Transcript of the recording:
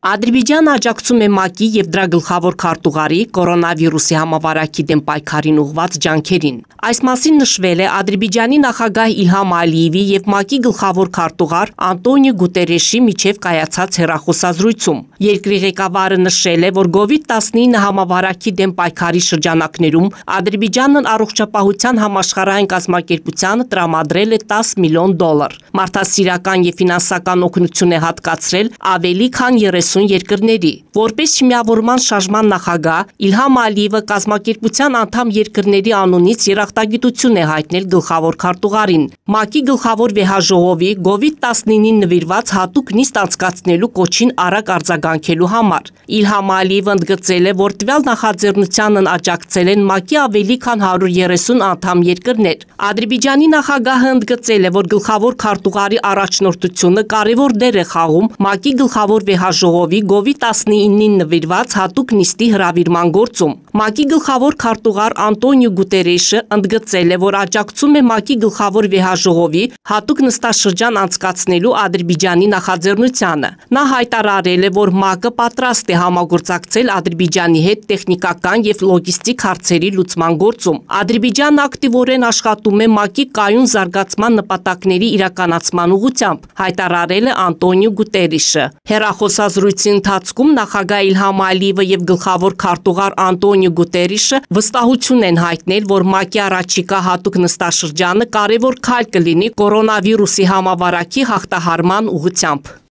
Ադրբեջանը աջակցում է ՄԱԿ-ի և դրա գլխավոր քարտուղարի կորոնավիրուսի համավարակի դեմ պայքարին ուղղված ջանքերին։ Այս մասին նշվել է Ադրբեջանի նախագահ Իլհամ Ալիևի և ՄԱԿ-ի գլխավոր քարտուղար Անտոնիո Գուտերեշի միջև կայացած հեռախոսազրույցում։ Երկրի ղեկավարը նշել է, որ COVID-19 համավարակի դեմ պայքարի շրջանակներում Ադրբեջանն առողջապահության համաշխարհային կազմակերպությանը տրամադրել է $10 միլիոն։ Մարդասիրական և ֆինանսական օգնություն է հատկացրել ավելի քան 30 երկրների։ Որպես Չմիավորման շարժման նախագահ Իլհամ Ալիևը կազմակերպության անդամ երկրների անունից երախտագիտություն է հայտնել գլխավոր քարտուղարին, ՄԱԿ-ի գլխավոր վեհաժողովի COVID-19-ին նվիրված հատուկ նիստ անցկացնելու կոչին արագ արձագանքելու համար։ Իլհամ Ալիևը ընդգծել է, որ տվյալ նախաձեռնությանն աջակցել են ՄԱԿ-ի ավելի քան 130 անդամ երկրներ։ Ադրբեջանի նախագահը ընդգծել է, որ գլխավոր քարտուղարի առաջնորդությունը կարևոր դեր է խաղում ՄԱԿ-ի գլխավոր վեհաժողովի COVID-19-ին նվիրված հատուկ նիստի հրավիրման գործում։ ՄԱԿ-ի գլխավոր քարտուղար Անտոնիո Գուտերեշը ընդգծել է, որ աջակցում է ՄԱԿ-ի գլխավոր վեհաժողովի հատուկ նստաշրջան անցկացնելու Ադրբեջանի նախաձեռնությանը։ Նա հայտարարել է, որ ՄԱԿ-ը պատրաստ է համագործակցել Ադրբեջանի հետ տեխնիկական և լոգիստիկ հարցերի լուծման գործում։ Ադրբեջանն ակտիվորեն աշխատում է ՄԱԿ-ի կայուն զարգացման նպատակների իրականացման ուղղությամբ, հայտարարել է Անտոնիո Գուտերեշը։ Հեռախոսազրույցի ընթացքում նախագահ Իլհամ Ալիևը և գլխավոր քարտուղար Անտոնիո Գուտերեշը վստահություն են հայտնել, որ ՄԱԿ-ի առաջիկա հատուկ նստաշրջանը կարևոր քայլ կլինի կորոնավիրուսի համավարակի հաղթահարման ուղղությամբ։